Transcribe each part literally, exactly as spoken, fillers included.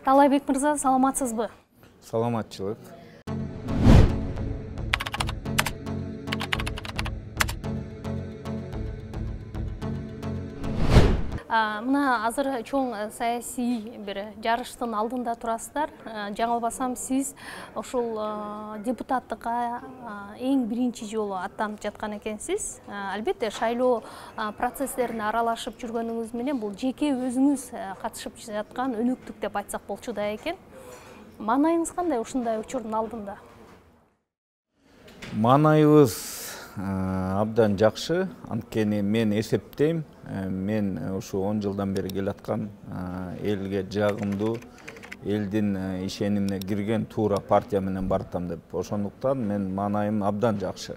Таалайбек мырза, саламатсызбы? Саламатчылык. Мына азыр чоң саясий бир жарыштын алдында турасыздар. Жаңылбасам, сиз ошол депутаттыкка эң биринчи жолу аттанып жаткан экенсиз. Албетте, шайлоо процесстерине аралашып жүргөнүңүз менен бул жеке өзүңүз катышып жаткан өнөктүк деп айтсак болчу да экен. Маанайыңыз кандай ушундай учурдун алдында? Маанайыбыз абдан жакшы. Анткени мен эсептейм, мен ушу он жылдан бери келаткан элге жагымдуу, элдин ишенимине кирген туура партия менен баратам деп. Ошондуктан мен маанайым абдан жакшы.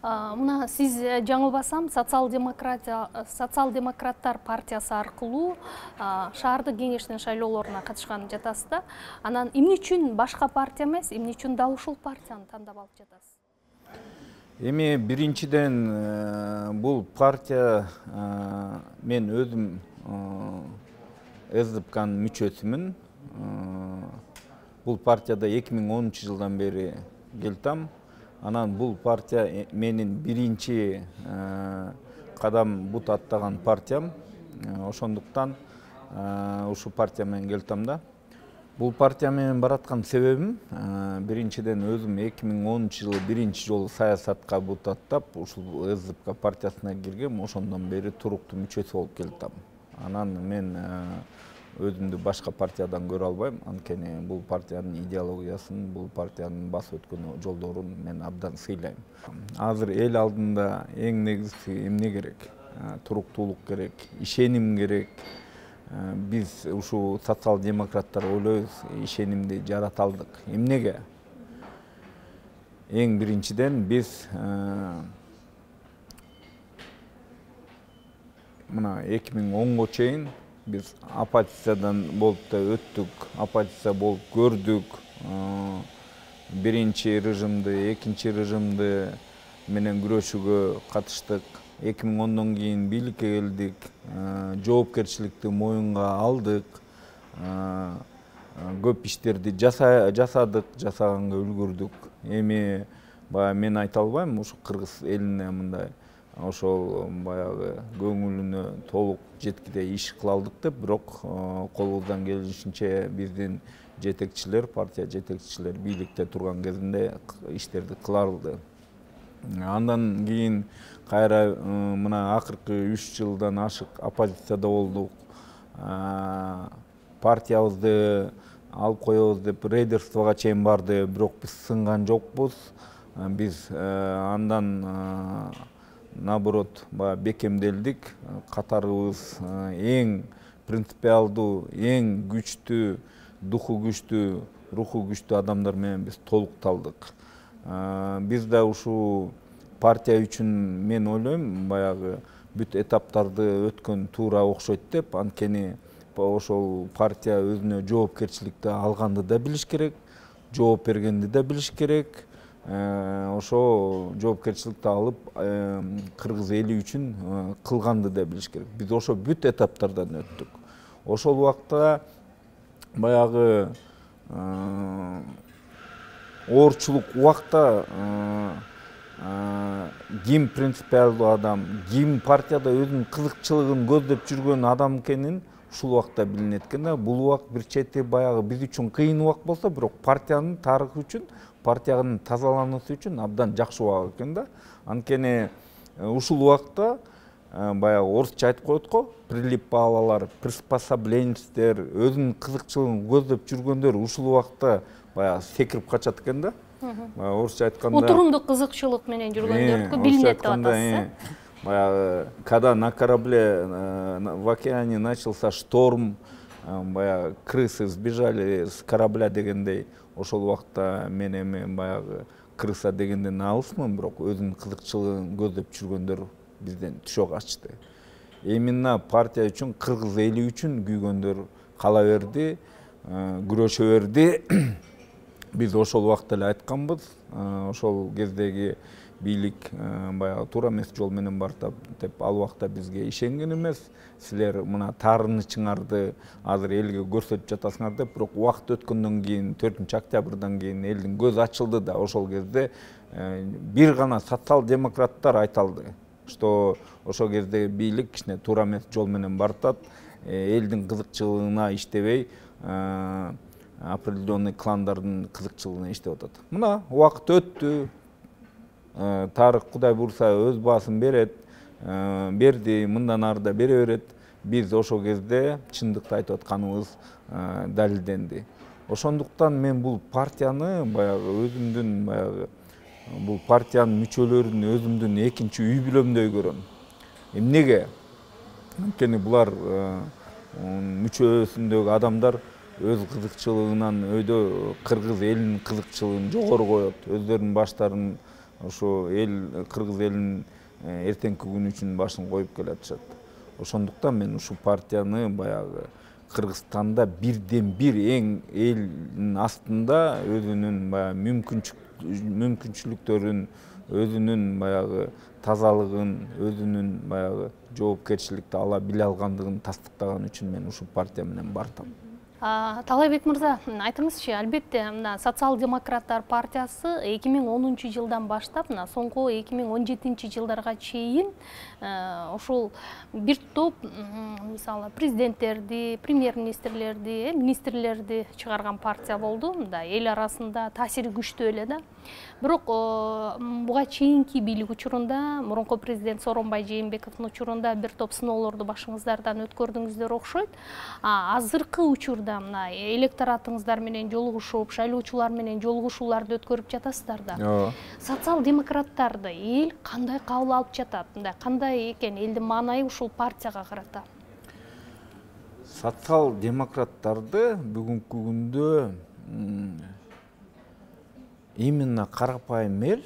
Мына сиз жаңылбасам социал-демократтар партиясы аркылуу шаардык кеңештин шайлоолоруна катышкан жатасыз да. Анан эмне үчүн башка партия эмес, эмне үчүн дал ушул партияны тандап алып жатасыз? Эми биринчиден бул партия мен өзүм СДПКнын мүчөсүмүн. Бул партияда эки миң онунчу жылдан бери келтам. Анан бул партия менин биринчи кадам бут аттаган партиям. Ошондуктан ушу партия менен келтам да. Бул партия менен бараткан себебим биринчиден өзүм эки миң онунчу жылы биринчи жолу саясатка бут аттап, ушул СДПК партиясына киргем, ошондон бери туруктуу мүчөсү болуп келтам. Анан мен өзүмдү башка партиядан көрө албайм, анткени бул партиянын идеологиясын, бул партиянын басып өткөн жолдорун мен абдан сыйлайм. Азыр эл алдында эң негизгиси эмне керек? Туруктуулук керек, ишеним керек. Биз ушу социал-демократтар ойлойбуз, ишенимди жарата алдык. Эмнеге? Эң биринчиден биз мына эки миң онго чейин биз оппозициядан болуп да өттүк, оппозиция болуп көрдүк. Биринчи режимди, экинчи режимди менен күрөшүүгө катыштык. эки миң ондон кийин бийликке келдик, жоопкерчиликти моюнга алдык, көп иштерди жасадык, жасаганга үлгүрдүк. Эми баягы мен айта албайм, ушу кыргыз элине мындай ошол баягы көңүлүнө толук жеткидей иш кыла алдык деп, бирок колубуздан келишинче биздин жетекчилер, партия жетекчилери бийликте турган кезинде иштерди кыла алды. Андан кийин кайра мына акыркы үч жылдан ашык оппозицияда болдук. Партиябызды алып коебуз деп рейдерствого чейин барды, бирок биз сынган жокпуз. Биз андан наоборот бекемделдик. Катарыбыз эң принципиалдуу, эң күчтүү, духу күчтүү, руху күчтүү адамдар менен биз толукталдык. Биз да ушул партия үчүн мен ойлойм, баягы бүт этаптарды өткөн туура окшойт деп, анткени ошол партия өзүнө жоопкерчиликти алганды да билиш керек, жооп бергенди да билиш керек. Ошо жоопкерчиликти алып, кыргыз эли үчүн кылганды да билиш керек. Биз ошо бүт этаптардан өттүк. Ошол убакта баягы оорчулук убакта ким принципиалдуу адам, ким партияда өзүнүн кызыкчылыгын көздөп жүргөн адам экенин ушул убакта билинет экен да. Бул убак бир чети баягы биз үчүн кыйын убак болсо, бирок партиянын тарыхы үчүн, партиянын тазалануусу үчүн абдан жакшы убак экен да. Анткени ушул убакта баягы орусча айтып коет го, прилипалалар, приспособленецтер, өзүнүн кызыкчылыгын көздөп жүргөндөр ушул убакта баягы секирип качат экен да. Орусча айтканда отурумдук кызыкчылык менен жүргөндөрдүкү билинет деп атасыз. Баягы когда на корабле в океане начался шторм, баягы крысы сбежали с корабля дегендей, ошол убакта мен эми баягы крыса дегенден алысмын, бирок өзүнүн кызыкчылыгын көздөп жүргөндөр бизден түшө качты. Именно партия үчүн, кыргыз эли үчүн күйгөндөр кала берди, күрөшө берди. Биз ошол убакта эле айтканбыз, ошол кездеги бийлик баягы туура эмес жол менен бартат деп ал убакта бизге ишенген эмес. Силер мына таарынычыңарды азыр элге көрсөтүп жатасыңар деп, бирок убакыт өткөндөн кийин төртүнчү октябрдан кийин элдин көзү ачылды да ошол кезде бир гана социал-демократтар айта алды, что ошол кезде бийлик кичине туура эмес жол менен бартат, элдин кызыкчылыгына иштебей, определенный кландардын кызыкчылыгына иштеп атат. Мына убакыт өттү, тарых Кудай буйрса өз баасын берет, берди, мындан ары да бере берет. Биз ошол кезде чындыкты айтып атканыбыз далилденди. Ошондуктан мен бул партияны баягы өзүмдүн баягы бул партиянын мүчөлөрүн өзүмдүн экинчи үй бүлөмдөй көрөм. Эмнеге? Анткени булар мүчөсүндөгү адамдар өз кызыкчылыгынан өйдө кыргыз элинин кызыкчылыгын жогору коет. Өздөрүнүн баштарын ошо эл кыргыз элинин эртеңки күнү үчүн башын коюп келатышат. Ошондуктан мен ушул партияны баягы Кыргызстанда бирден бир эң элдин астында өзүнүн баягы мүмкүнчүлүктөрүн, өзүнүн баягы тазалыгын, өзүнүн баягы жоопкерчиликти ала биле алгандыгын тастыктаган үчүн мен ушул партия менен бардым. Талайбек мырза, айтыңызчы, албетте мына социал-демократтар партиясы эки миң онунчу жылдан баштап мына соңку эки миң он жетинчи жылдарга чейин ошол бир топ мисалы президенттерди, премьер-министрлерди, министрлерди чыгарган партия болду. Мында эл арасында таасири күчтүү эле да. Бирок буга чейинки бийлик учурунда мурунку президент Сооронбай Жээнбековдун учурунда бир топ сыноолорду башыңыздардан өткөрдүңүздөр окшойт. Азыркы учурда мына электоратыңыздар менен жолугушуп, шайлоочулар менен жолугушууларды өткөрүп жатасыздар да. Социал-демократтарды эл кандай кабыл алып жатат? Мындай кандай экен элдин маанайы ушул партияга карата? Социал-демократтарды бүгүнкү күндө именно карапайым эл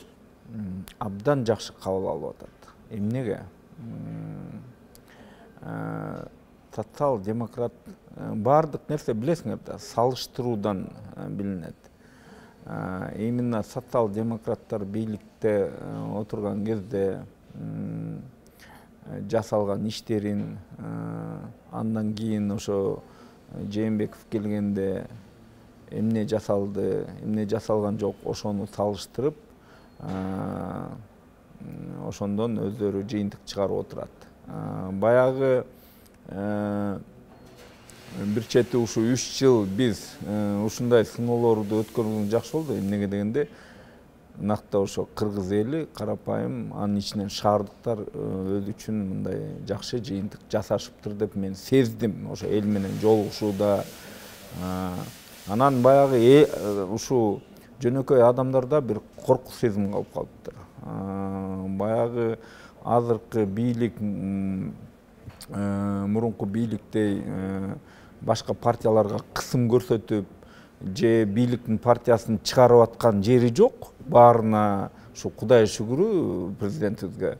абдан жакшы кабыл алып атат. Эмнеге? Социал-демократ бардык нерсе билесиңер да, салыштыруудан билинет. Именно социал-демократтар бийликте отурган кезде жасалган иштерин, андан кийин ошо Жээнбеков келгенде эмне жасалды, эмне жасалган жок, ошону салыштырып, ошондон өздөрү жыйынтык чыгарып отурат. Баягы бир чети ушу үч жыл биз ушундай сыноолорду өткөргөнү жакшы болду. Эмнеге дегенде, накта ошо кыргыз эли карапайым, анын ичинен шаардыктар өзү үчүн мындай жакшы жыйынтык жасашыптыр деп мен сездим ошо эл менен жолугушууда. Анан баягы ушу жөнөкөй адамдарда бир корку сезим калып калыптыр. Баягы азыркы бийлик мурунку бийликтей башка партияларга кысым көрсөтүп, же бийликтин партиясын чыгарып аткан жери жок. Баарына ушу Кудай шүгүрү президентибизге,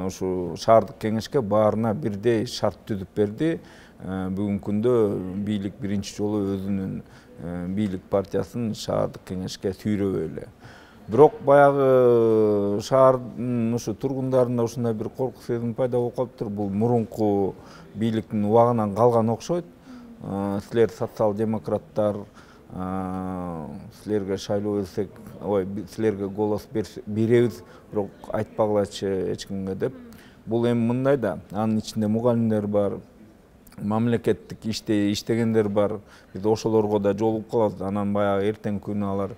ушу шаардык кеңешке баарына бирдей шарт түзүп берди. Бүгүнкү күндө бийлик биринчи жолу өзүнүн бийлик партиясын шаардык кеңешке сүйрөбөй эле. Бирок баягы шаардын ушу тургундарында ушундай бир корку сезим пайда болуп калыптыр. Бул мурунку бийликтин убагынан калган окшойт. Силер социал-демократтар, силерге шайлоо берсек, ой, силерге голос беребиз, бирок айтпагылачы эч кимге деп. Бул эми мындай да, анын ичинде мугалимдер бар, мамлекеттик иште иштегендер бар. Биз ошолорго да жолугуп калабыз. Анан баягы эртеңки күнү алар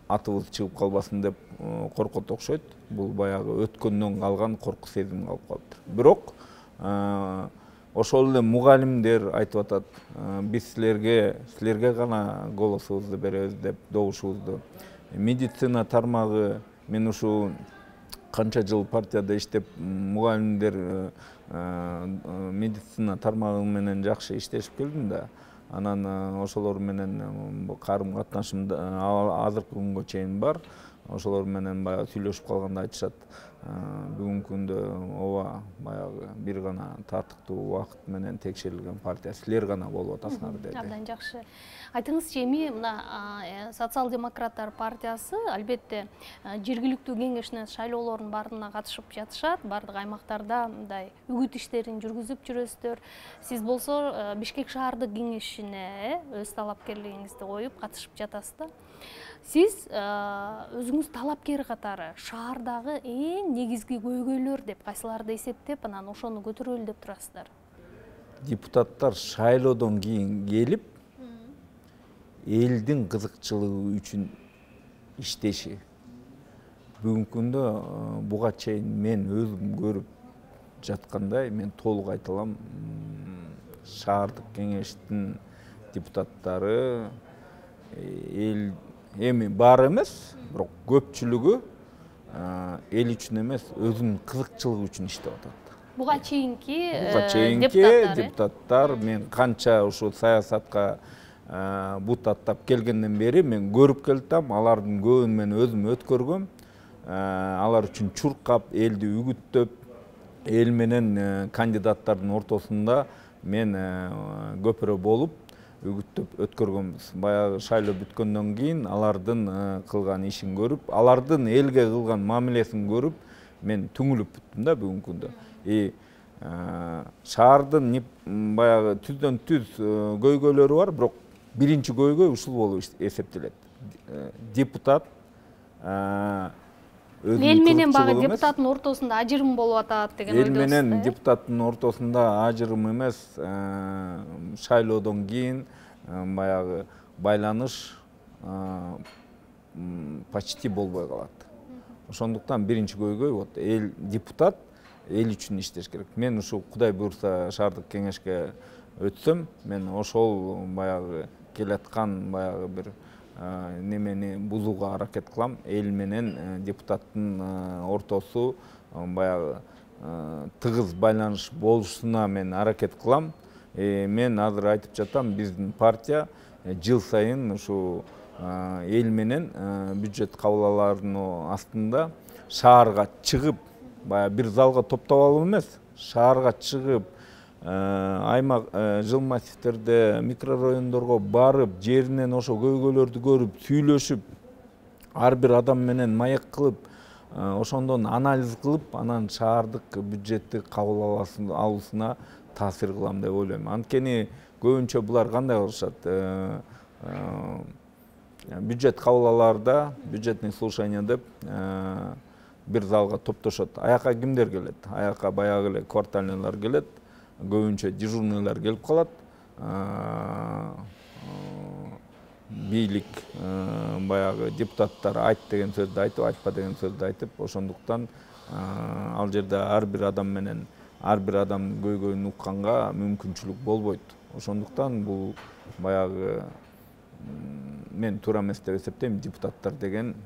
атыбыз чыгып калбасын деп коркот окшойт. Бул баягы өткөндөн калган корку сезим калып калыптыр. Бирок ошол эле мугалимдер айтып атат, биз силерге силерге гана голосубузду беребиз деп добушубузду. Медицина тармагы, мен ушу канча жыл партияда иштеп, мугалимдер медицина тармагы менен жакшы иштешип келдим да. Анан ошолор менен карым катнашым азыркы күнгө чейин бар. Ошолор менен баягы сүйлөшүп калганда айтышат, бүгүнкү күндө ооба баягы бир гана татыктуу убакыт менен текшерилген партия силер гана болуп атасыңар деди. Абдан жакшы. Айтыңызчы, эми мына социал-демократтар партиясы албетте жергиликтүү кеңештин шайлоолорунун баарына катышып жатышат, бардык аймактарда мындай үгүт иштерин жүргүзүп жүрөсүздөр. Сиз болсо Бишкек шаардык кеңешине өз талапкерлигиңизди коюп катышып жатасыз да. Сиз өзүңүз талапкер катары шаардагы эң негизги көйгөйлөр деп кайсыларды эсептеп, анан ошону көтөрөлү деп турасыздар? Депутаттар шайлоодон кийин келип, элдин кызыкчылыгы үчүн иштеши. Бүгүнкү күндө буга чейин мен өзүм көрүп жаткандай, мен толук айта алам, шаардык кеңештин депутаттары эл эми бар эмес, бирок көпчүлүгү эл үчүн эмес, өзүнүн кызыкчылыгы үчүн иштеп атат. Буга чейинки буга чейинки депутаттар, мен канча ушу саясатка бут аттап келгенден бери мен көрүп келатам, алардын көбүн мен өзүм өткөргөм. Алар үчүн чуркап, элди үгүттөп, эл менен кандидаттардын ортосунда мен көпүрө болуп үгүттөп өткөргөнбүз. Баягы шайлоо бүткөндөн кийин алардын кылган ишин көрүп, алардын элге кылган мамилесин көрүп, мен түңүлүп бүттүм да бүгүнкү күндө. И шаардын баягы түздөн түз көйгөйлөрү бар, бирок биринчи көйгөй ушул болуп эсептелет. Депутат эл менен багы депутаттын ортосунда ажырым болуп атат деген ойдосуз. Эл менен депутаттын ортосунда ажырым эмес, шайлоодон кийин баягы байланыш почти болбой калат. Ошондуктан биринчи көйгөй вот эл депутат эл үчүн иштеш керек. Мен ушу Кудай буйрса шаардык кеңешке өтсөм, мен ошол баягы келаткан баягы бир немени бузууга аракет кылам. Эл менен депутаттын ортосу баягы тыгыз байланыш болушуна мен аракет кылам. Мен азыр айтып жатам, биздин партия жыл сайын ушу эл менен бюджет кабыл астында шаарга чыгып, баягы бир залга топтоп алып эмес, шаарга чыгып, аймак жыл массивтерде, микрорайондорго барып, жеринен ошо көйгөйлөрдү көрүп, сүйлөшүп, ар бир адам менен маек кылып, ошондон анализ кылып, анан шаардык бюджетти кабыл алуусуна таасир кылам деп ойлойм. Анткени көбүнчө булар кандай кылышат? Бюджет кабыл бюджетный слушание деп бир залга топтошот. Аяка кимдер келет? Аяка баягы эле квартальныйлар келет. Көбүнчө дежурныйлар келип калат. Бийлик баягы депутаттар айт деген сөздү айтып, айтпа деген сөздү айтып, ошондуктан ал жерде ар бир адам менен ар бир адамдын көйгөйүн укканга мүмкүнчүлүк болбойт. Ошондуктан бул баягы мен туура эмес деп эсептейм. Депутаттар деген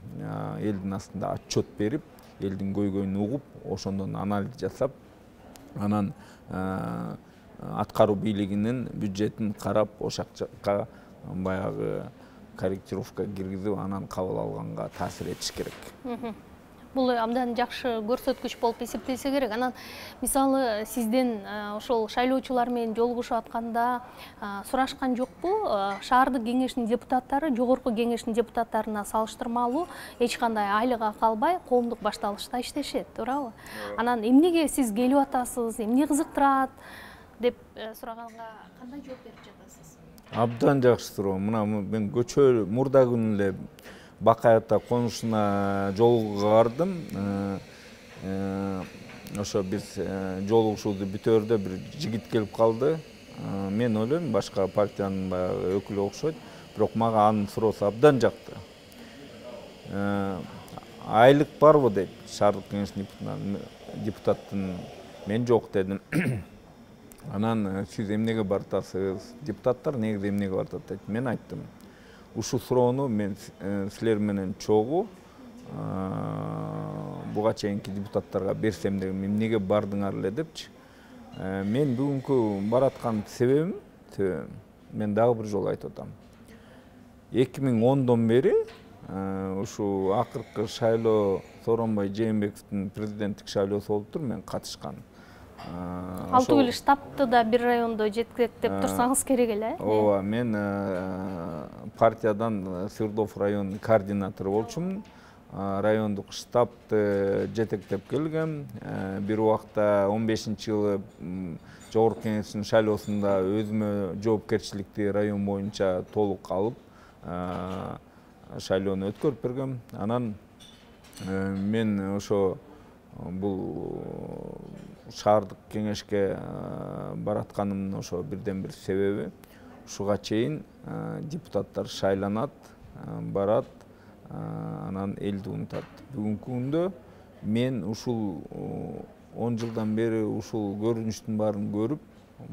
элдин астында отчет берип, элдин көйгөйүн угуп, ошондон анализ жасап, анан аткаруу бийлигинин бюджетин карап, ошол жакка баягы корректировка киргизип, анан кабыл алганга таасир этиш керек. Бул абдан жакшы көрсөткүч болуп эсептелсе керек. Анан мисалы сизден ошол шайлоочулар менен жолугушуп атканда сурашкан жокпу? Шаардык кеңештин депутаттары жогорку кеңештин депутаттарына салыштырмалуу эч кандай айлык акы албай коомдук башталышта иштешет, туурабы? Анан эмнеге сиз келип атасыз, эмне кызыктырат деп сураганга кандай жооп берип жатасыз? Абдан жакшы суроо. Мына мен көчө мурда күнү эле Бакай ата конушуна жолугууга бардым. Ошо биз жолугушуубузду бүтөөрдө бир жигит келип калды. Мен ойлойм, башка партиянын баягы өкүлү окшойт, бирок мага анын суроосу абдан жакты. Айлык барбы дейт, шаардык кеңештин депутаттын. Мен жок дедим. Анан сиз эмнеге бартасыз? Депутаттар негизи эмнеге бартат дейт. Мен айттым. Ушул суроону мен силер менен чогуу буга чейинки депутаттарга берсем деген, эмнеге бардыңар эле депчи. Мен бүгүнкү бараткан себебим, мен дагы бир жолу айтып атам. эки миң ондон бери ушул акыркы шайлоо Сооронбай Жээнбековдун президенттик шайлоосу болуптур, мен катышкан. Ал түгүл штабты да бир райондо жетектеп турсаңыз керек эле. Ооба, мен партиядан Свердлов районунун координатору болчумун. Райондук штабты жетектеп келгем. Бир убакта он бешинчи жылы Жогорку Кеңештин шайлоосунда өзүмө жоопкерчиликти район боюнча толук алып, шайлоону өткөрүп бергем. Анан мен ошо бул шаардык кеңешке баратканымдын ошо бирден бир себеби, ушуга чейин депутаттар шайланат, барат, анан элди унутат. Бүгүнкү күндө мен ушул он жылдан бери ушул көрүнүштүн баарын көрүп,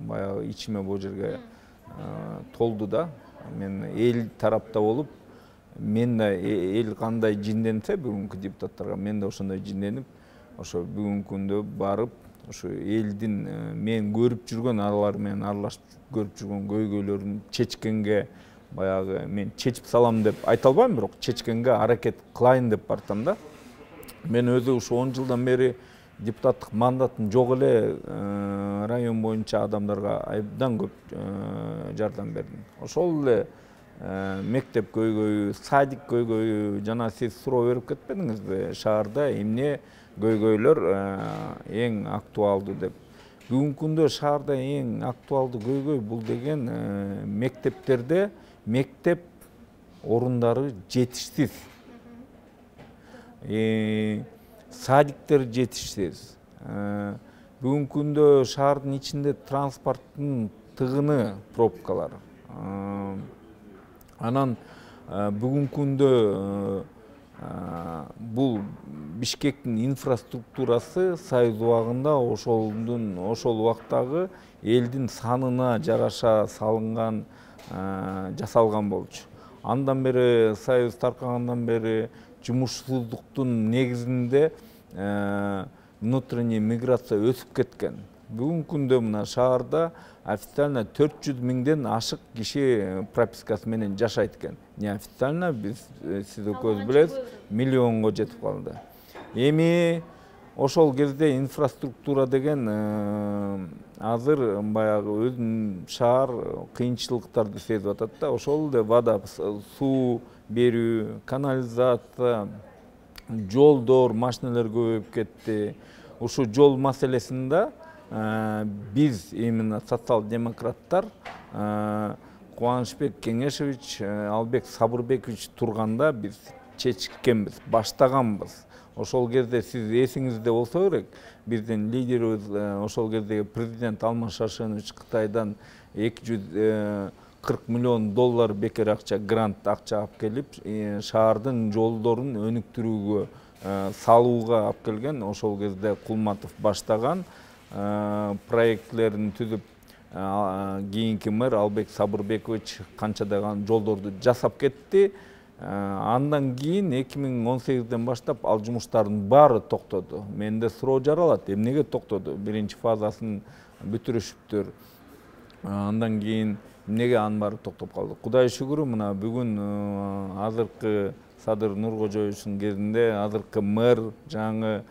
баягы ичиме бул жерге толду да. Мен эл тарапта болуп, мен да эл кандай жинденсе бүгүнкү депутаттарга, мен да ошондой жинденип, ошо бүгүнкү күндө барып, ошо элдин мен көрүп жүргөн, алар менен аралашып көрүп жүргөн көйгөйлөрүн чечкенге, баягы мен чечип салам деп айта албайм, бирок чечкенге аракет кылайын деп бартам да. Мен өзү ушу он жылдан бери депутаттык мандатым жок эле район боюнча адамдарга абдан көп жардам бердим. Ошол эле мектеп көйгөйү, садик көйгөйү, жана сиз суроо берип кетпедиңизби, шаарда эмне көйгөйлөр эң актуалдуу деп. Бүгүнкү күндө шаарда эң актуалдуу көйгөй бул деген мектептерде мектеп орундары жетишсиз. Садиктер жетишсиз. Бүгүнкү күндө шаардын ичинде транспорттун тыгыны, пробкалар. Анан бүгүнкү күндө бул Бишкектин инфраструктурасы Союз убагында ошолдун ошол убактагы элдин санына жараша салынган, жасалган болчу. Андан бери Союз таркагандан бери жумушсуздуктун негизинде внутренний миграция өсүп кеткен. Бүгүнкү күндө мына шаарда официально төрт жүз миңден ашык киши пропискасы менен жашайт экен. Неофициально биз сиз экөөбүз билебиз, миллионго жетип калды. Эми ошол кезде инфраструктура деген азыр баягы өзүнүн шаар кыйынчылыктарды сезип атат да. Ошол эле вода, суу берүү, канализация, жолдор, машиналар көбөйүп кетти. Ушу жол маселесинде биз именно социал-демократтар Кубанычбек Кеңешевич, Албек Сабырбекович турганда биз чечкенбиз, баштаганбыз. Ошол кезде сиз эсиңизде болсо керек, биздин лидерибиз ошол кездеги президент Алмаз Шаршенович Кытайдан эки жүз кырк миллион доллар бекер акча, грант акча алып келип, шаардын жолдорун өнүктүрүүгө, салууга алып келген. Ошол кезде Кулматов баштаган проектлерин түзүп, кийинки мэр Албек Сабырбекович канчадаган жолдорду жасап кетти. Андан кийин эки миң он сегизден баштап ал жумуштардын баары токтоду. Менде суроо жаралат, эмнеге токтоду? Биринчи фазасын бүтүрүшүптүр. Андан кийин эмнеге анын баары токтоп калды? Кудай шүгүрү, мына бүгүн азыркы Садыр Нуркожоевичтин кезинде азыркы мэр, жаңы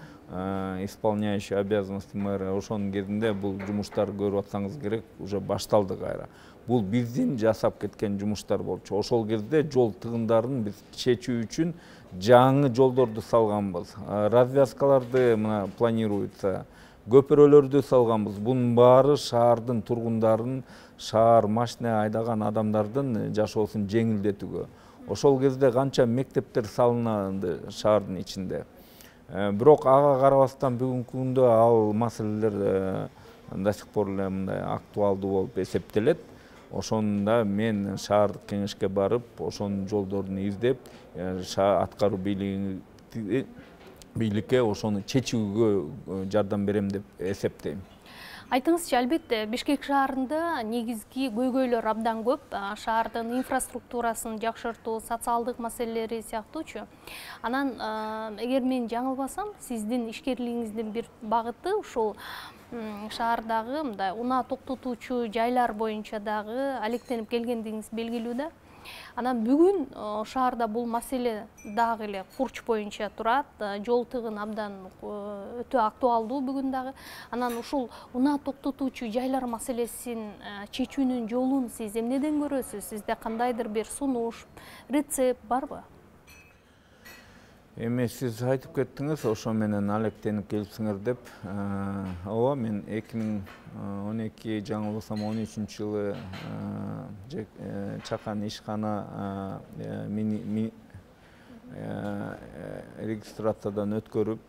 исполняющий обязанности мэра, ошонун кезинде бул жумуштар көрүп атсаңыз керек, уже башталды кайра. Бул биздин жасап кеткен жумуштар болчу. Ошол кезде жол тыгындарын биз чечүү үчүн жаңы жолдорду салганбыз. Развязкаларды мына планируется, көпүрөлөрдү салганбыз. Бунун баары шаардын тургундарын, шаар машина айдаган адамдардын жашоосун жеңилдетүүгө. Ошол кезде канча мектептер салынды шаардын ичинде. Бирок ага карабастан бүгүнкү күндө ал маселелер до сих пор эле мындай актуалдуу болуп эсептелет. Ошондо мен шаардык кеңешке барып, ошонун жолдорун издеп, аткаруу бийликке ошону чечүүгө жардам берем деп эсептейм. Айтыңызчы, албетте Бишкек шаарында негизги көйгөйлөр абдан көп. Шаардын инфраструктурасын жакшыртуу, социалдык маселелери сыяктуучу. Анан эгер мен жаңылбасам, сиздин ишкерлигиңиздин бир багыты ушул шаардагы мындай унаа токтотуучу жайлар боюнча дагы алектенип келгендигиңиз белгилүү да. Анан бүгүн шаарда бул маселе дагы эле Курч боюнча турат. Жол тыгын абдан өтө актуалдуу бүгүн дагы. Анан ушул унаа токтотуучу жайлар маселесин чечүүнүн жолун сиз эмнеден көрөсүз? Сизде кандайдыр бир сунуш, рецепт барбы? Эми сиз айтып кеттиңиз, ошо менен алектенип келипсиңер деп. Ооба, мен эки миң он эки, жаңылбасам он үчүнчү жылы чакан ишкана регистрациядан өткөрүп,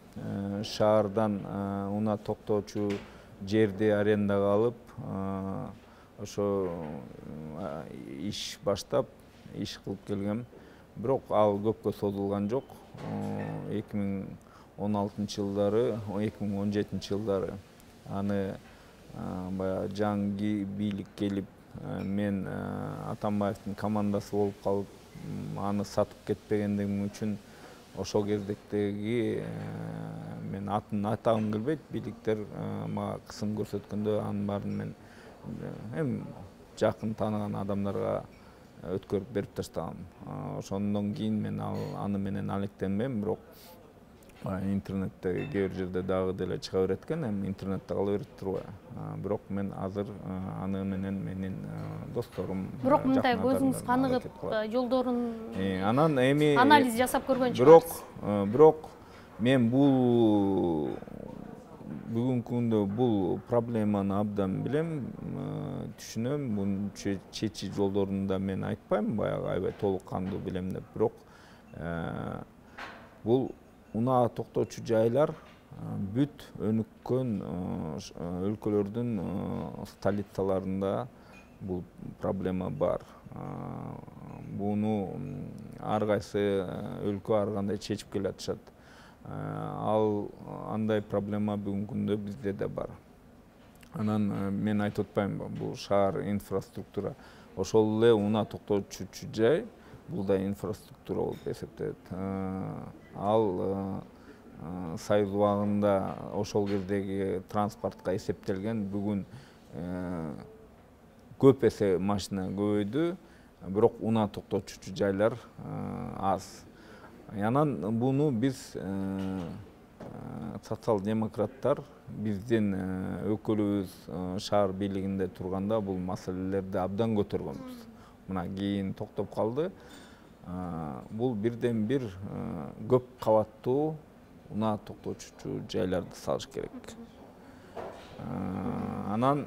шаардан унаа токтоочу жерди арендага алып, ошо иш баштап, иш кылып келгем. Бирок ал көпкө созулган жок. эки миң он алтынчы жылдары, эки миң он жетинчи жылдары аны баягы жаңы бийлик келип, мен Атамбаевдин командасы болуп калып, аны сатып кетпегендигим үчүн ошол кездеги мен атын айтагым келбейт, бийликтер мага кысым көрсөткөндө анын баарын мен эми жакын тааныган адамдарга өткөрүп берип таштагам. Ошондон кийин мен аны менен алектенбейм, бирок интернетте кээ бир жерде дагы деле чыга берет экен, эми интернетте кала берет турбайбы. Бирок мен азыр аны менен менин досторум, бирок мындай көзүңүз каныгып, жолдорун анан эми анализ жасап көргөн чыгарсыз. Бирок, бирок мен бул бүгүнкү күндө бул проблеманы абдан билем, түшүнөм. Муну чечүү жолдорун да мен айтпайм, баягы аябай толук кандуу билем деп. Бирок бул унаа токтоочу жайлар бүт өнүккөн өлкөлөрдүн столицаларында бул проблема бар. Буну ар кайсы өлкө ар кандай чечип келатышат. Ал андай проблема бүгүнкү күндө бизде да бар. Анан мен айтып атпаймынбы, бул шаар инфраструктура. Ошол эле унаа токтоочу жай бул да инфраструктура болуп эсептелет. Ал Союз убагында ошол кездеги транспортко эсептелген. Бүгүн көп эсе машина көбөйдү, бирок унаа токтотуучу жайлар аз. Анан буну биз социал-демократтар биздин өкүлүбүз шаар бийлигинде турганда бул маселелерди абдан көтөргөнбүз. Мына кийин токтоп калды. Бул бирден бир көп кабаттуу унаа токтотуучу жайларды салыш керек. Анан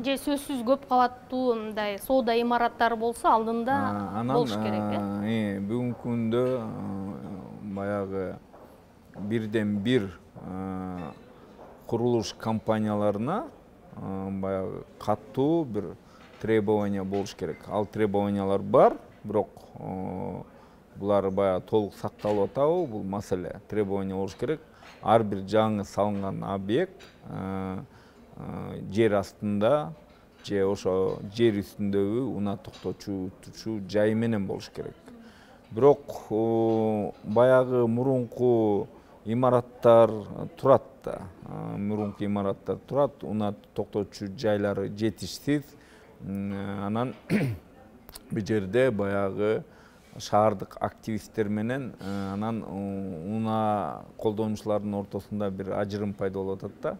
же сөзсүз көп кабаттуу мындай соода имараттары болсо алдында болуш керек, э? Бүгүнкү күндө баягы бирден бир курулуш компанияларына баягы катуу бир требования болуш керек. Ал требованиялар бар, бирок булар баягы толук сакталып атабы, бул маселе. Требования болуш керек. Ар бир жаңы салынган объект жер астында же ошо жер үстүндөгү унаа токтотуучу жай менен болуш керек. Бирок баягы мурунку имараттар турат да. Мурунку имараттар турат, унаа токтотуучу жайлары жетишсиз. Анан бул жерде баягы шаардык активисттер менен анан унаа колдонуучулардын ортосунда бир ажырым пайда болуп атат да.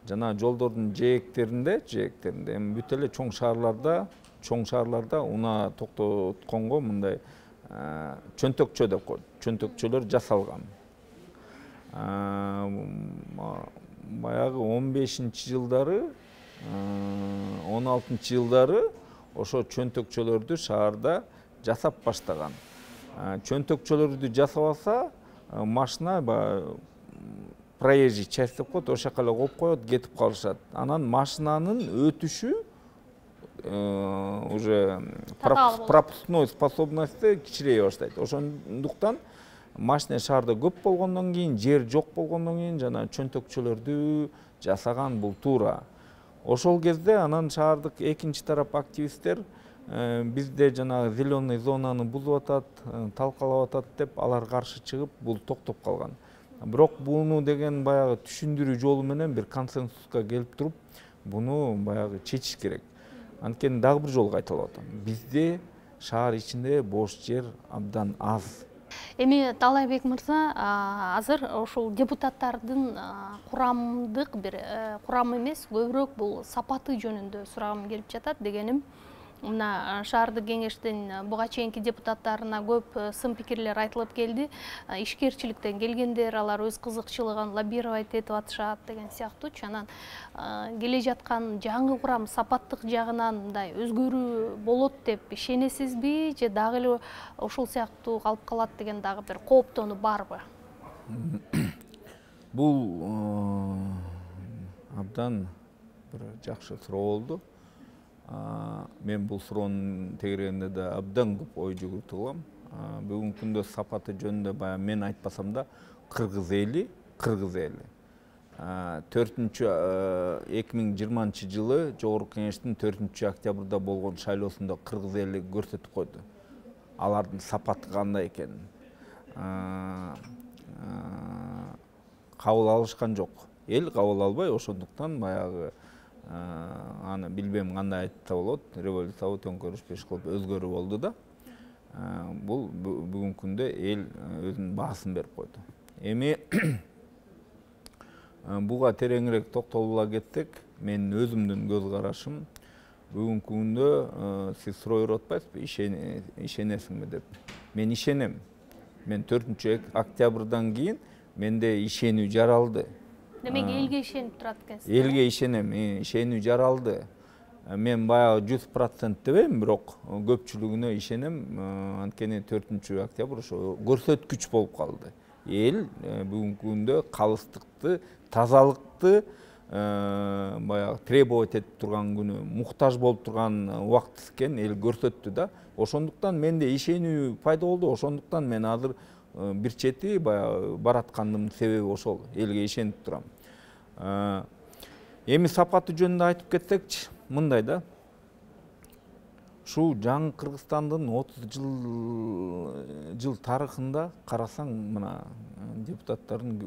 Жана жолдордун жээктеринде, жээктеринде эми бүт эле чоң шаарларда, чоң шаарларда унаа токтотконго мындай чөнтөкчө деп коет. Чөнтөкчөлөр жасалган. Баягы он бешинчи жылдары, он алтынчы жылдары ошо чөнтөкчөлөрдү шаарда жасап баштаган. Чөнтөкчөлөрдү жасабаса, машина проезжий часть деп коет, ошол жака эле коюп коет, кетип калышат. Анан машинанын өтүшү уже пропускной способности кичирее баштайт. Ошондуктан машина шаарда көп болгондон кийин, жер жок болгондон кийин жана чөнтөкчөлөрдү жасаган бул туура. Ошол кезде анан шаардык экинчи тарап активисттер бизде жанагы зеленый зонаны бузуп атат, талкалап атат деп алар каршы чыгып, бул токтоп калган. Бирок буну деген баягы түшүндүрүү жолу менен бир консенсуска келип туруп, буну баягы чечиш керек. Анткени дагы бир жолу кайталап атам. Бизде шаар ичинде бош жер абдан аз. Эми Таалайбек мырза, азыр ушул депутаттардын курамдык бир курам эмес, көбүрөөк бул сапаты жөнүндө сурагым келип жатат. Дегеним, мына шаардык кеңештин буга чейинки депутаттарына көп сын пикирлер айтылып келди. Ишкерчиликтен келгендер, алар өз кызыкчылыгын лоббировать этип атышат деген сыяктуучу. Анан келе жаткан жаңы курам сапаттык жагынан мындай өзгөрүү болот деп ишенесизби, же дагы эле ушул сыяктуу калып калат деген дагы бир кооптонуу барбы? Бул абдан бир жакшы суроо болду. Мен бул суроонун тегерегинде да абдан көп ой жүгүртүп алам. Бүгүнкү күндө сапаты жөнүндө баягы мен айтпасам да кыргыз эли, кыргыз эли төртүнчү эки миң жыйырманчы жылы Жогорку Кеңештин төртүнчү октябрда болгон шайлоосунда кыргыз эли көрсөтүп койду алардын сапаты кандай экенин. Кабыл алышкан жок. Эл кабыл албай, ошондуктан баягы аны билбейм кандай айтса болот, революциябы төңкөрүш пеш кылып өзгөрүү болду да. Бул бүгүнкү күндө эл өзүнүн баасын берип койду. Эми буга тереңирээк токтолуп кетсек, менин өзүмдүн көз карашым бүгүнкү күндө сиз суроо берип атпайсызбы, ишенесиңби деп. Мен ишенем. Мен төртүнчү октябрдан кийин менде ишенүү жаралды. Демек элге ишенип турат экенсиз. Элге ишенем, ишенүү жаралды. Мен баягы жүз процент дебейм, бирок көпчүлүгүнө ишенем. Анткени төртүнчү октябрь ошо көрсөткүч болуп калды. Эл бүгүнкү күндө калыстыкты, тазалыкты баягы требовать этип турган күнү, муктаж болуп турган убакыт экенин эл көрсөттү да. Ошондуктан менде ишенүү пайда болду. Ошондуктан мен азыр бир чети баягы бараткандын себеби ошол, элге ишенип турам. Эми сапаты жөнүндө айтып кетсекчи, мындай да. Ушул жаңы Кыргызстандын отуз жыл тарыхында карасаң, мына депутаттардын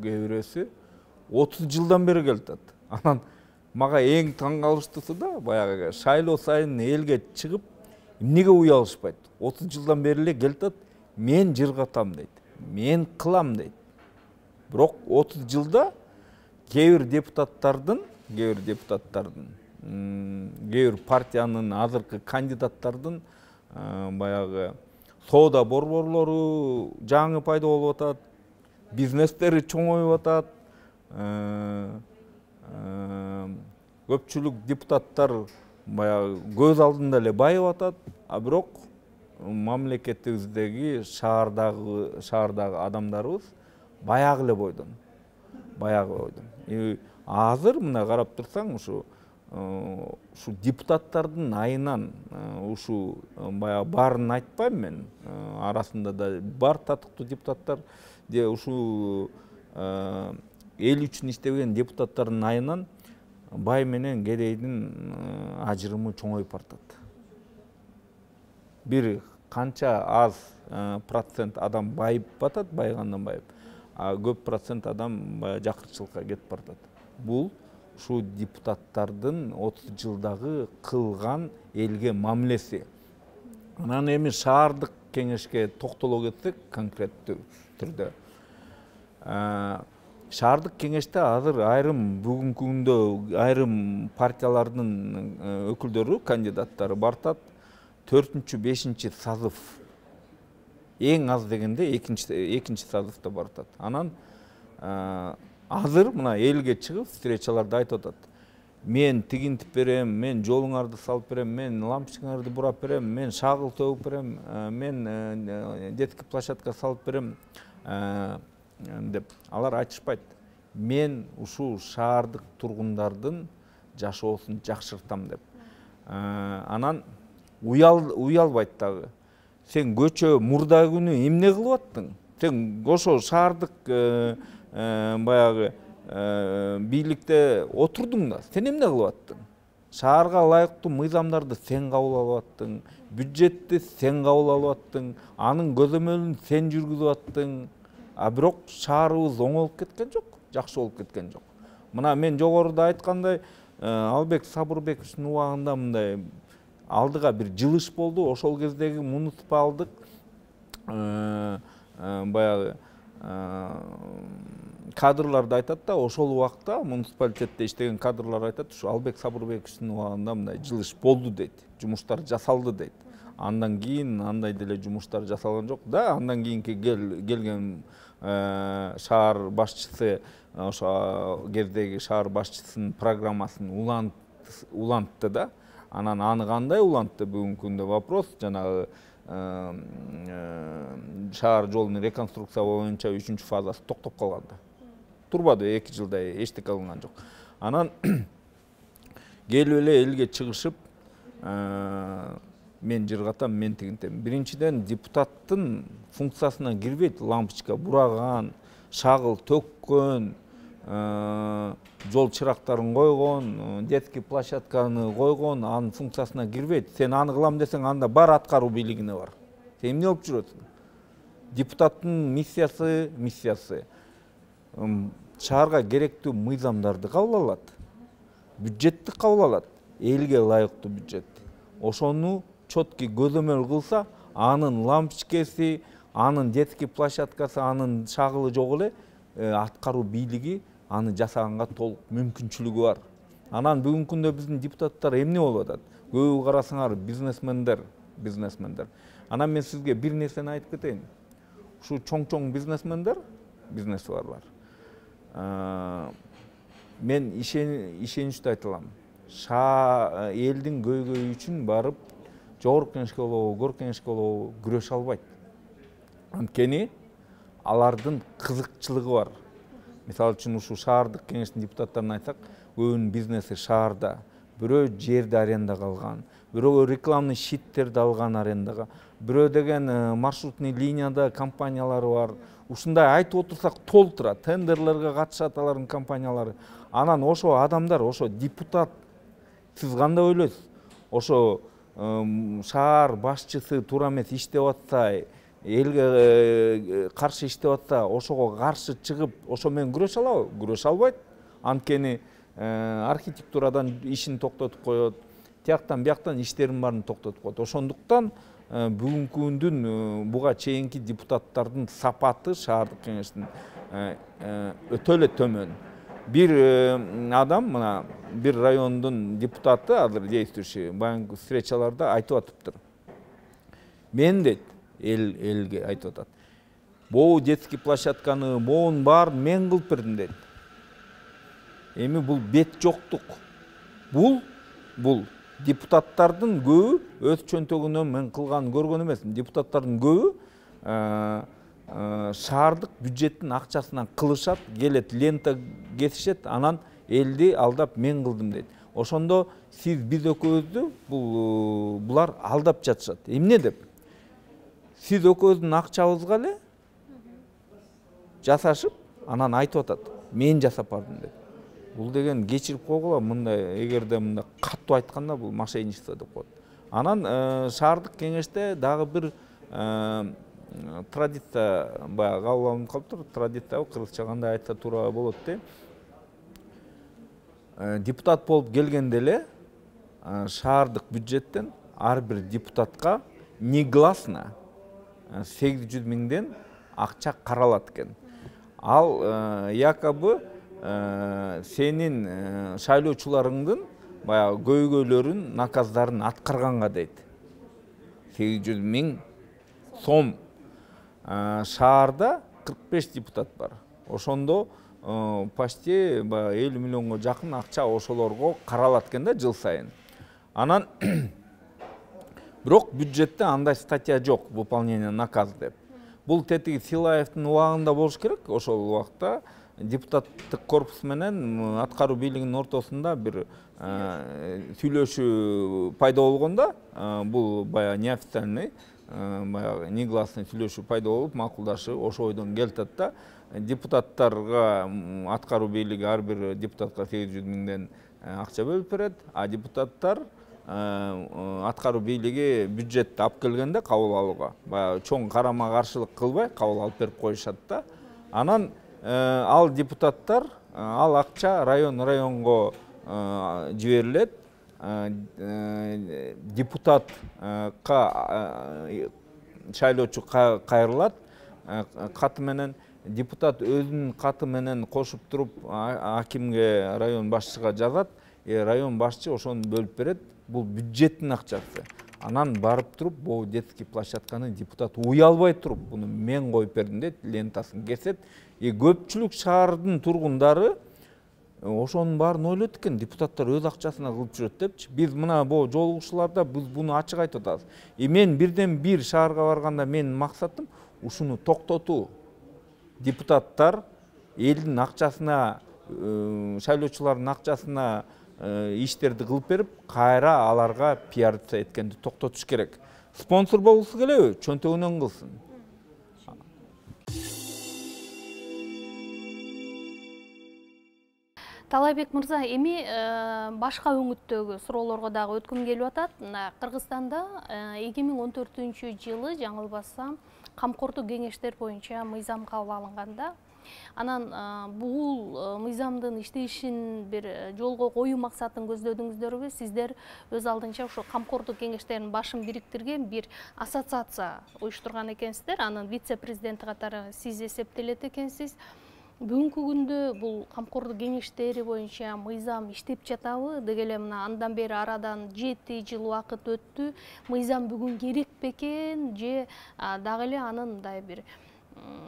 кээ бирөөсү отуз жылдан бери келатат. Анан мага эң таң калыштуусу да, баягы шайлоо сайын элге чыгып, эмнеге уялышпайт? отуз жылдан бери эле келатат, мен жыргатам дейт, мен кылам дейт. Бирок отуз жылда кээ бир депутаттардын, кээ бир депутаттардын, кээ бир партиянын азыркы кандидаттардын баягы соода борборлору жаңы пайда болуп атат, бизнестери чоңоюп атат. Көпчүлүк депутаттар баягы көз алдында эле байып атат, а бирок мамлекетибиздеги шаардагы шаардагы адамдарыбыз баягы эле бойдон. Баягы бойдон. Азыр мына карап турсаң, ушу ушу депутаттардын айынан ушу баягы баарын айтпайм мен. Арасында да бар татыктуу депутаттар, же ушу эл үчүн иштеген депутаттардын айынан бай менен кедейдин ажырымы чоңоюп бартат. Бир канча аз процент адам байып батат, байгандан байып, а көп процент адам жакырчылыкка кетип бартат. Бул ушу депутаттардын отуз жылдагы кылган элге мамилеси. Анан эми шаардык кеңешке токтоло кетсек, конкреттүү түрдө. Шаардык кеңеште азыр айрым бүгүнкү күндө айрым партиялардын өкүлдөрү, кандидаттары бартат. төртүнчү бешинчи сазыв, эң аз дегенде экинчи сазывда бартат. Анан азыр мына элге чыгып встречаларда айтып атат. Мен тигинтип берем, мен жолуңарды салып берем, мен лампочкаңарды бурап берем, мен шагыл төгүп берем, мен детский площадка салып берем деп алар айтышпайт. Мен ушул шаардык тургундардын жашоосун жакшыртам деп. Анан уялбайт дагы. Сен көчө мурда күнү эмне кылып аттың? Сен ошо шаардык баягы бийликте отурдуң да, сен эмне кылып аттың? Шаарга ылайыктуу мыйзамдарды сен кабыл алып аттың, бюджетти сен кабыл алып аттың, анын көзөмөлүн сен жүргүзүп аттың. А бирок шаарыбыз оңолуп кеткен жок, жакшы болуп кеткен жок. Мына мен жогоруда айткандай, Албек Сабырбековичтин убагында мындай алдыга бир жылыш болду. Ошол кездеги муниципалдык баягы кадрларды айтат да, ошол убакта муниципалитетте иштеген кадрлар айтат, ушу Албек Сабырбековичтин убагында мындай жылыш болду дейт, жумуштар жасалды дейт. Андан кийин андай деле жумуштар жасалган жок да. Андан кийинки келген шаар башчысы ошо кездеги шаар башчысынын программасын улантты да. Анан аны кандай улантты бүгүнкү күндө вопрос. Жанагы шаар жолунун реконструкция боюнча үчүнчү фазасы токтоп калган да. Турбады, эки жылдай эчтеке кылынган жок. Анан келип эле элге чыгышып, мен жыргатам, мен тигинтем. Биринчиден, депутаттын функциясына кирбейт лампочка бураган, шагыл төккөн, жол чырактарын койгон, детский площадканы койгон, анын функциясына кирбейт. Сен аны кылам десең, анда бар аткаруу бийлигине бар. Сен эмне болуп жүрөсүң? Депутаттын миссиясы, миссиясы шаарга керектүү мыйзамдарды кабыл алат, бюджетти кабыл алат, элге ылайыктуу бюджет. Ошону четкий көзөмөл кылса, анын лампочкасы, анын детский площадкасы, анын шагылы жок эле, аткаруу бийлиги аны жасаганга толук мүмкүнчүлүгү бар. Анан бүгүнкү күндө биздин депутаттар эмне болуп атат? Көбү карасаңар бизнесмендер, бизнесмендер. Анан мен сизге бир нерсени айтып кетейин. Ушу чоң-чоң бизнесмендер, бизнесчилар бар. Мен ишеничтүү айта алам. Элдин көйгөйү үчүн барып жогорку кеңешке болобу, көр кеңешке болобу күрөшө албайт. Анткени алардын кызыкчылыгы бар. Мисалы үчүн ушу шаардык кеңештин депутаттарына айтсак, көбүнүн бизнеси шаарда, бирөө жерди арендага алган, бирөө рекламный щиттерди алган арендага, бирөө деген маршрутный линияда компаниялары бар. Ушундай айтып отурсак толтура, тендерлерге катышат алардын компаниялары. Анан ошо адамдар, ошо депутат, сиз кандай ойлойсуз? Ошо шаар башчысы туура эмес иштеп атса, элге каршы иштеп атса, ошого каршы чыгып, ошо менен күрөшө алабы? Күрөшө албайт. Анткени архитектурадан ишин токтотуп коет, тияктан бияктан иштерин баарын токтотуп коет. Ошондуктан бүгүнкү күндүн буга чейинки депутаттардын сапаты шаардык кеңештин өтө эле төмөн. Бир адам, мына бир райондун депутаты, азыр действующий, баягы встречаларда айтып атыптыр. Мен дейт, эл элге айтып атат. Боо детский площадканы, боонун баарын мен кылып бердим дейт. Эми бул бет жоктук. Бул бул депутаттардын көбү өз чөнтөгүнөн мен кылган көргөн эмесмин. Депутаттардын көбү шаардык бюджеттин акчасынан кылышат, келет, лента кесишет, анан элди алдап мен кылдым дейт. Ошондо сиз биз экөөбүздү бул булар алдап жатышат. Эмне деп? Сиз экөөбүздүн акчабызга эле жасашып, анан айтып атат, мен жасап бардым деп. Бул деген кечирип койгула, мындай эгерде мындай каттуу айтканда бул мошенничество деп коет. Анан шаардык кеңеште дагы бир традиция баягы кабыл алынып калыптыр. Традиция кыргызча кандай айтса туура болот де. Депутат болуп келгенде эле шаардык бюджеттен ар бир депутатка негласно сегиз жүз миңден акча каралат экен. Ал якобы сенин шайлоочуларыңдын баягы көйгөйлөрүн, наказдарын аткарганга дейт. сегиз жүз миң сом. Шаарда кырк беш депутат бар. Ошондо почти элүү миллионго жакын акча ошолорго каралат экен да жыл сайын. Анан бирок бюджетте андай статья жок, выполнение наказ деп. Бул тетиги Силаевдин убагында болуш керек. Ошол убакта депутаттык корпус менен аткаруу бийлигинин ортосунда бир сүйлөшүү пайда болгондо, бул баягы неофициальный, баягы негласный сүйлөшүү пайда болуп, макулдашып, ошо ойдон келтет да. Депутаттарга аткаруу бийлиги ар бир депутатка сегиз жүз миңден акча бөлүп берет, а депутаттар аткаруу бийлиги бюджетти алып келгенде кабыл алууга баягы чоң карама каршылык кылбай кабыл алып берип коюшат да. Анан ал депутаттар, ал акча район районго жиберилет, депутатка шайлоочу кайрылат каты менен, депутат өзүнүн каты менен кошуп туруп акимге, район башчыга жазат, район башчы ошону бөлүп берет. Бул бюджеттин акчасы. Анан барып туруп, бул детский площадканы депутат уялбай туруп, буну мен коюп бердим дейт, лентасын кесет. И көпчүлүк шаардын тургундары ошонун баарын ойлойт экен, депутаттар өз акчасына кылып жүрөт депчи. Биз мына бул жолугушууларда биз буну ачык айтып атабыз. И мен бирден бир шаарга барганда менин максатым ушуну токтотуу. Депутаттар элдин акчасына, шайлоочулардын акчасына иштерди кылып берип, кайра аларга пиарца эткенди токтотуш керек. Спонсор болгусу келеби, чөнтөгүнөн кылсын. Талайбек мырза, эми башка өңүттөгү суроолорго дагы өткүм келип атат. Кыргызстанда эки миң он төртүнчү жылы жаңылбасам камкордук кеңештер боюнча мыйзам кабыл алынганда, анан бул мыйзамдын иштешин бир жолго коюу максатын көздөдүңүздөрбү? Сиздер өз алдынча ошо камкордук кеңештеринин башын бириктирген бир ассоциация уюштурган экенсиздер. Анын вице-президенти катары сиз эсептелет экенсиз. Бүгүнкү күндө бул камкордук кеңештери боюнча мыйзам иштеп жатабы? Деги эле мына андан бери арадан жети жыл убакыт өттү. Мыйзам бүгүн керек бекен же дагы эле анын мындай бир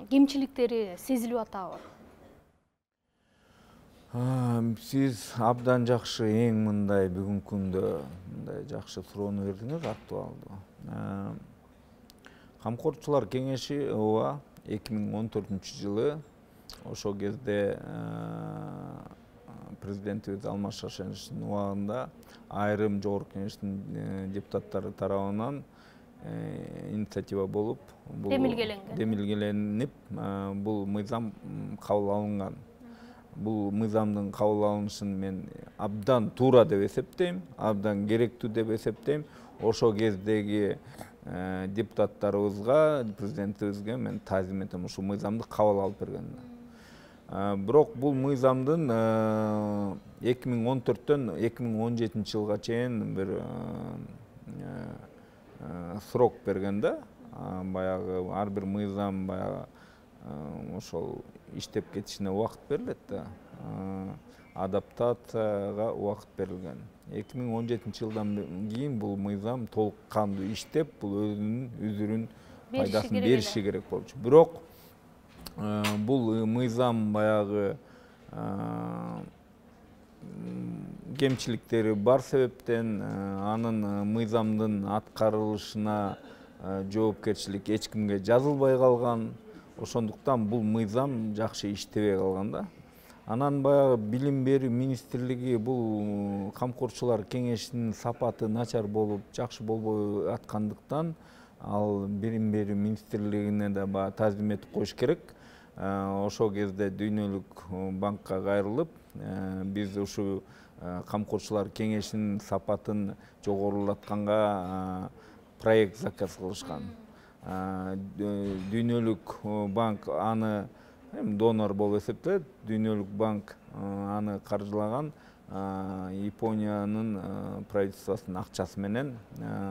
кемчиликтери сезилип атабы? Сиз абдан жакшы, эң мындай бүгүнкү күндө мындай жакшы суроону бердиңиз, актуалдуу. Камкорчулар кеңеши ооба эки миң он төртүнчү жылы ошол кезде президентибиз Алмаз Шаршеновичтин убагында айрым жогорку кеңештин депутаттары тарабынан инициатива болуп, демилгеленип, бул мыйзам кабыл алынган. Бул мыйзамдын кабыл алынышын мен абдан туура деп эсептейм, абдан керектүү деп эсептейм. Ошол кездеги депутаттарыбызга, президентибизге мен таазим этем, ушул мыйзамды кабыл алып бергенине. Бирок бул мыйзамдын эки миң он төрттөн эки миң он жетинчи жылга чейин бир срок берген да. Баягы ар бир мыйзам баягы ошол иштеп кетишине убакыт берилет да. Адаптацияга убакыт берилген. эки миң он жетинчи жылдан кийин бул мыйзам толук кандуу иштеп, бул өзүнүн үзүрүн пайдасын бериши керек болчу. Бирок бул мыйзам баягы кемчиликтери бар себептен анын мыйзамдын аткарылышына жоопкерчилик эч кимге жазылбай калган. Ошондуктан бул мыйзам жакшы иштебей калган да. Анан баягы билим берүү министрлиги бул камкорчулар кеңешинин сапаты начар болуп, жакшы болбой аткандыктан ал билим берүү министрлигине да баягы таазим этип коюш керек. Ошол кезде Дүйнөлүк банкка кайрылып, биз ушу камкорчулар кеңешинин сапатын жогорулатканга проект заказ кылышкан. Дүйнөлүк банк аны донор болуп эсептелет. Дүйнөлүк банк аны каржылаган Япониянын правительствосунун акчасы менен.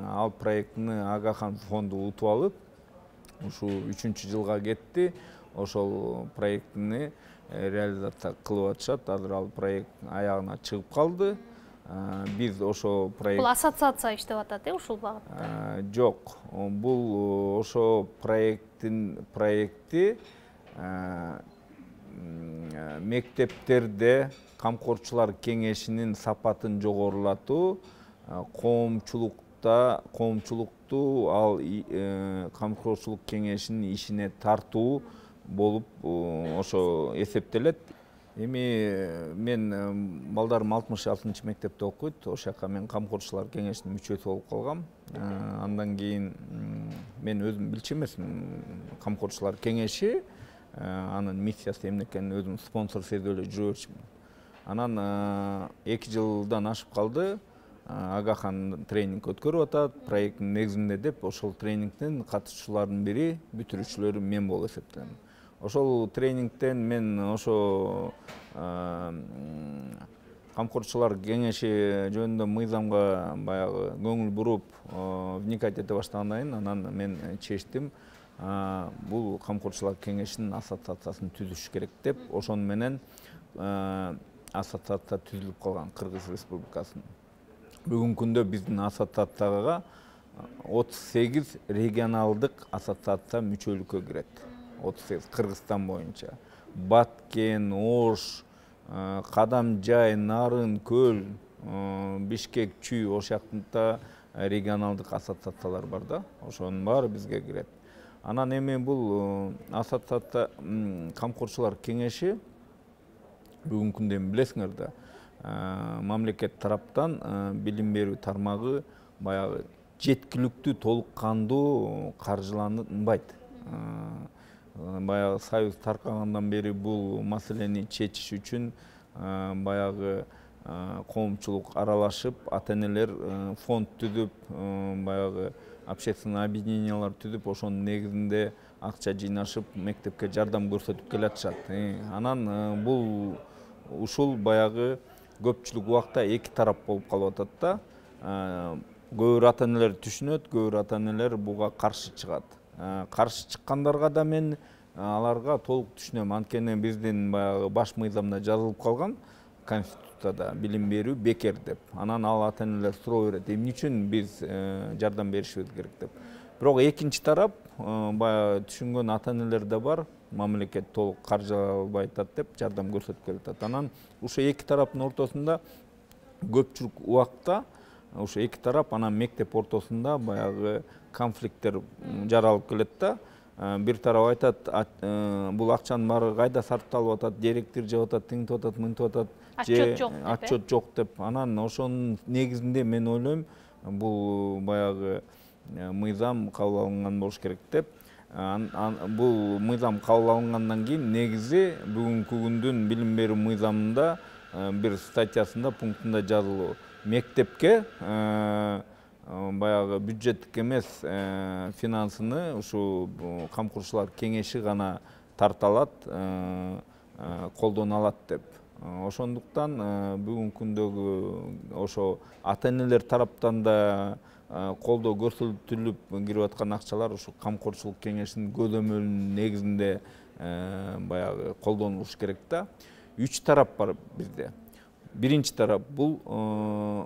Ал проектини Агахан фонду утуп алып, ушу үчүнчү жылга кетти. Ошол проектини реализация кылып атышат. Азыр ал проект аягына чыгып калды. Биз ошо проект... Бул ассоциация иштеп атат, э, ушул багытта? Жок. Бул ошо проекттин проекти мектептерде камкорчулар кеңешинин сапатын жогорулатуу, коомчулукта, коомчулукту ал камкорчулук кеңешинин ишине тартуу болуп ошо эсептелет. Эми мен балдарым алтымыш алтынчы мектепте окуйт. Ошол жака мен камкорчулар кеңешинин мүчөсү болуп калгам. Андан кийин мен өзүм билчү эмесмин. Камкорчулар кеңеши анын миссиясы эмне экенин өзүм спонсор сезип эле жүрө берчүмүн. Анан эки жылдан ашып калды. Агахан тренинг өткөрүп атат, проекттин негизинде деп, ошол тренингдин катышуучуларынын бири, бүтүрүүчүлөрү мен болуп эсептелем. Ошол тренингтен мен ошо камкорчулар кеңеши жөнүндө мыйзамга баягы көңүл буруп вникать эте баштагандан кийин анан мен чечтим бул камкорчулар кеңешинин ассоциациясын түзүш керек деп. Ошону менен ассоциация түзүлүп калган Кыргыз Республикасынын. Бүгүнкү күндө биздин ассоциацияга отуз сегиз регионалдык ассоциация мүчөлүккө кирет. отуз сегиз Кыргызстан боюнча. Баткен, Ош, Кадамжай, Нарын, Көл, Бишкек, Чүй ошакта регионалдык ассоциациялар бар да. Ошонун баары бизге кирет. Анан эми бул ассоциация камкорчулар кеңеши бүгүнкү күндө билесиңер да, мамлекет тараптан билим берүү тармагы баягы жеткиликтүү толук кандуу каржыланбайт. Баягы союз таркагандан бери бул маселени чечиш үчүн баягы коомчулук аралашып, ата-энелер фонд түзүп, баягы общественный объединениялар түзүп, ошонун негизинде акча жыйнашып, мектепке жардам көрсөтүп келатышат. Анан бул ушул баягы көпчүлүк убакта эки тарап болуп калып атат да. Көп бир ата-энелер түшүнөт, көп бир ата-энелер буга каршы чыгат. Каршы чыккандарга да мен аларга толук түшүнөм. Анткени биздин баягы баш мыйзамда жазылып калган Конституцияда билим берүү бекер деп. Анан ал ата-энелер суроо берет, эмне үчүн биз жардам беришибиз керек деп. Бирок экинчи тарап баягы түшүнгөн ата-энелер да бар. Мамлекет толук каржылабай атат деп жардам көрсөтүп келатат. Анан ушул эки тараптын ортосунда көпчүлүк убакта ошо эки тарап анан мектеп ортосунда баягы конфликттер жаралып келет да. Бир тарап айтат, бул акчанын баары кайда сарпталып атат, директор жеп атат, тинтип атат, мынтип атат, отчет жок деп. Отчет жок деп. Анан ошонун негизинде мен ойлойм, бул баягы мыйзам кабыл алынган болуш керек деп. Бул мыйзам кабыл алынгандан кийин негизи бүгүнкү күндүн билим берүү мыйзамында бир статьясында пунктунда жазылуу. Мектепке баягы бюджеттик эмес финансыны ушу камкорчулар кеңеши гана тарта алат, колдоно алат деп. Ошондуктан бүгүнкү күндөгү ошо ата-энелер тараптан да колдоо көрсөтүлүп кирип аткан акчалар ушу камкорчулук кеңешинин көзөмөлүнүн негизинде баягы колдонулуш керек да. Үч тарап бар бизде. Биринчи тарап бул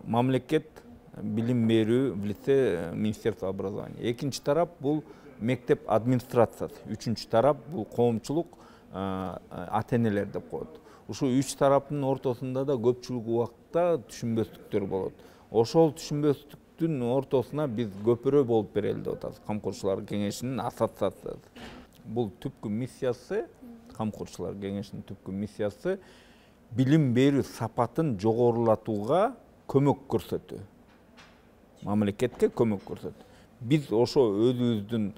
мамлекет билим берүү в лице Министерства образования. Экинчи тарап бул мектеп администрациясы. Үчүнчү тарап бул коомчулук, ата-энелер деп коет. Ушул үч тараптын ортосунда да көпчүлүк убакта түшүнбөстүктөр болот. Ошол түшүнбөстүктүн ортосуна биз көпүрө болуп берели деп атабыз. Камкорчулар кеңешинин ассоциациясы. Бул түпкү миссиясы, камкорчулар кеңешинин түпкү миссиясы билим берүү сапатын жогорулатууга көмөк көрсөтүү. Мамлекетке көмөк көрсөтүү. Биз ошо өзүбүздүн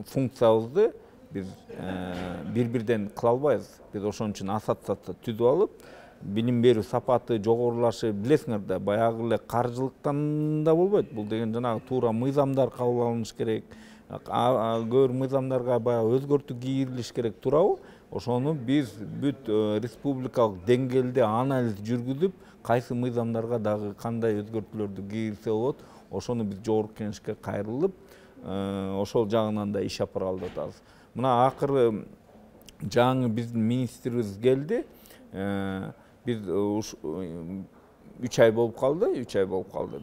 функциябызды биз бир-бирден кыла албайбыз. Биз ошон үчүн ассоциация түзүп алып, билим берүү сапаты жогорулашы, билесиңер да, баягы эле каржылыктан да болбойт. Бул деген жанагы туура мыйзамдар кабыл алыныш керек. Көп мыйзамдарга баягы өзгөртүү киргизилиш керек, туурабы? Ошону биз бүт республикалык деңгээлде анализ жүргүзүп, кайсы мыйзамдарга дагы кандай өзгөртүүлөрдү киргизсе болот, ошону биз жогорку кеңешке кайрылып, ошол жагынан да иш алып деп атабыз. Мына акыры жаңы биздин министрибиз келди. Биз үч ай болуп калды, үч ай болуп калды.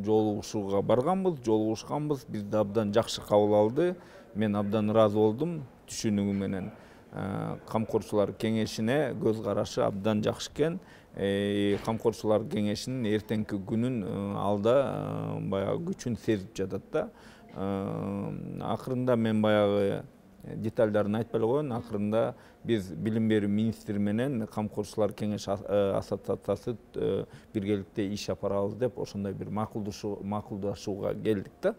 Жолугушууга барганбыз, жолугушканбыз. Бизди абдан жакшы кабыл алды. Мен абдан ыраазы болдум түшүнүгү менен. Камкорчулар кеңешине көз карашы абдан жакшы экен. Камкорчулар кеңешинин эртеңки күнүн алда баягы күчүн сезип жатат да. Акырында мен баягы детальдарын айтпай эле коеюн. Акырында биз билим берүү министри менен камкорчулар кеңеш ассоциациясы биргеликте иш апарабыз деп ошондой бир макулдашууга келдик да.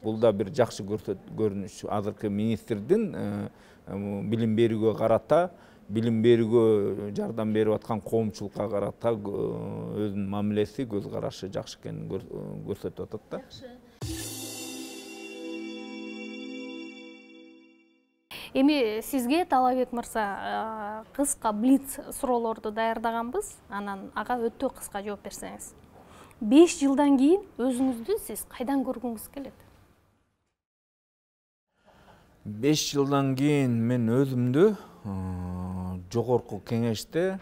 Бул да бир жакшы көрүнүш. Азыркы министрдин билим берүүгө карата, билим берүүгө жардам берип аткан коомчулукка карата өзүнүн мамилеси, көз карашы жакшы экенин көрсөтүп атат да. Эми сизге Талабек мырза кыска блиц суроолорду даярдаганбыз, анан ага өтө кыска жооп берсеңиз. беш жылдан кийин өзүңүздү сиз кайдан көргүңүз келет? беш жылдан кийин мен өзүмдү жогорку кеңеште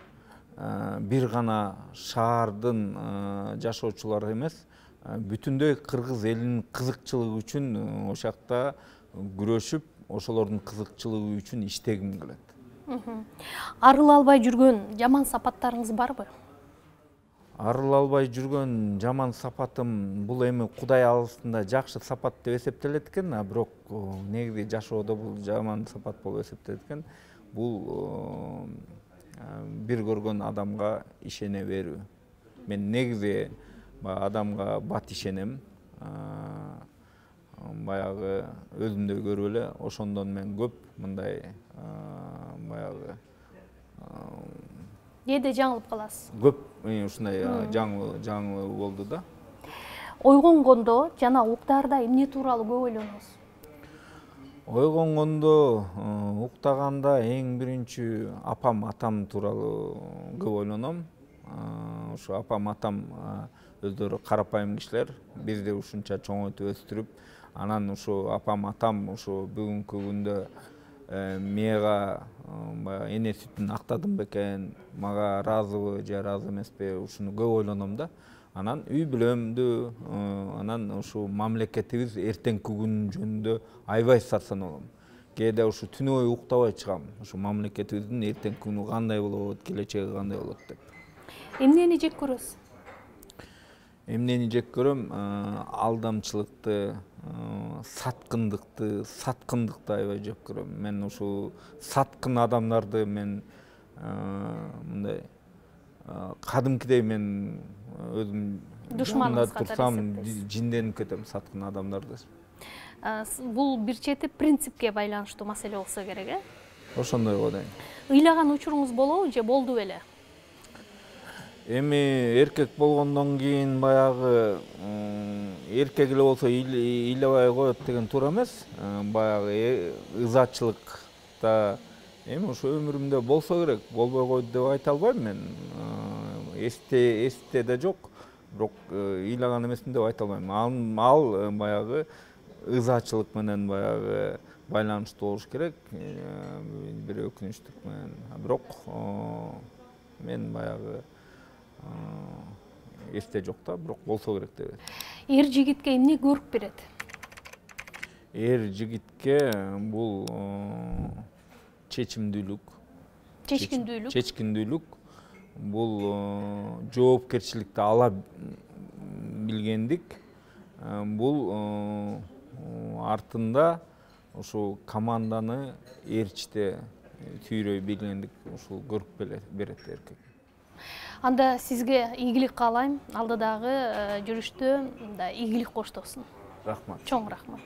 бир гана шаардын жашоочулары эмес, бүтүндөй кыргыз элинин кызыкчылыгы үчүн ошол жакта күрөшүп, ошолордун кызыкчылыгы үчүн иштегим келет. Арыла албай жүргөн жаман сапаттарыңыз барбы? Арыла албай жүргөн жаман сапатым бул эми Кудай алыстында жакшы сапат деп эсептелет экен, а бирок негизи жашоодо бул жаман сапат болуп эсептелет экен. Бул бир көргөн адамга ишене берүү. Мен негизи адамга бат ишенем. Баягы өзүмдөй көрүп эле, ошондон мен көп мындай баягы кээде жаңылып каласыз. Көп ушундай жаңылуу жаңылуу болду да. Ойгонгондо жана уктаарда эмне тууралуу көп ойлоносуз? Ойгонгондо, уктаганда эң биринчи апам, атам тууралуу көп ойлоном. Ушу апам, атам өздөрү карапайым кишилер, бизди ушунча чоңойтуп өстүрүп, анан ушу апам, атам ушу бүгүнкү күндө мага баягы эне сүтүн актадым бекен, мага ыраазыбы же ыраазы эмеспи, ушуну көп ойлоном да. Анан үй бүлөмдү, анан ушу мамлекетибиз эртеңки күн жөнүндө аябай сарсан болом. Кээде ушу түнү бою уктабай чыгам, ушу мамлекетибиздин эртеңки күнү кандай болот, келечеги кандай болот деп. Эмнени жек көрөсүз? Эмнени жек көрөм? Алдамчылыкты, саткындыкты, саткындыкты аябай жек көрөм. Мен ушу саткын адамдарды мен мындай кадимкидей мен өзүм душманыңыз катары турсам жинденип кетем саткын адамдарды. Бул бир чети принципке байланыштуу маселе болсо керек, э? Ошондой го дейм. Ыйлаган учуруңуз болобу же болду беле? Эми эркек болгондон кийин баягы эркек эле болсо ыйлабай коет деген туура эмес. Баягы ызачылыкта эми ушу өмүрүмдө болсо керек, болбой койду деп айта албайм мен. Эсте эсте да жок, бирок ыйлаган эмесмин деп айта албайм. Ал баягы ызачылык менен баягы байланыштуу болуш керек. Бир өкүнүчтүк менен. Бирок мен баягы эсте жок да, бирок болсо керек деп. Эр жигитке эмне көрүп берет? Эр жигитке бул чечимдүүлүк. Чечкиндүүлүк. Чечкиндүүлүк. Бул жоопкерчиликти ала билгендик. Бул артында ушу команданы ээрчите түйрөй билгендик, ушул көрүп берет эркек. Анда сизге ийгилик каалайм. Алдыдагы жүрүштө игилик коштосун. Рахмат. Чоң рахмат.